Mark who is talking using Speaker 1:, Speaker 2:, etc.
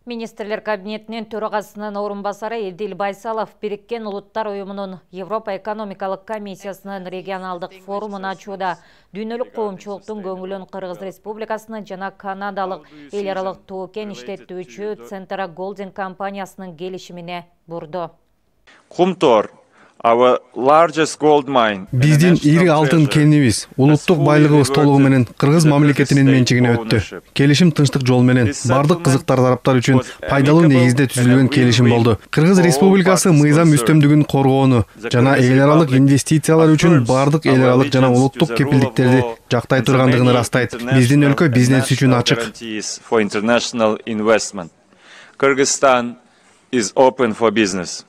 Speaker 1: Министрлер кабинетинин төрагасынын орун басары Эдил Байсалов Бириккен Улуттар уюмунун Европа экономикалык комиссиясынын регионалдык форумун ачууда дүйнөлүк коомчулуктун көңүлүн Кыргыз Республикасынын жана Канадалык эл аралык тоо-кен иштетүүчү Центра Голдинг компаниясынын келишимине бурду.
Speaker 2: Кумтор
Speaker 3: биздин ири алтын кенибиз, улуттук байлыгыбыз толугу менен Кыргыз мамлекетинин менчигине өттү. Келишим тынчтык жол менен бардык кызыктар тараптар үчүн пайдалуу негизде түзүлгөн келишим болду. Кыргыз Республикасы мыйзам үстөмдүгүн коргоону жана эл аралык инвестициялар үчүн бардык эл аралык жана улуттук кепилдиктерди жактай тургандыгын ырастайт. Биздин өлкө бизнес үчүн ачык.
Speaker 2: Kyrgyzstan is open for business.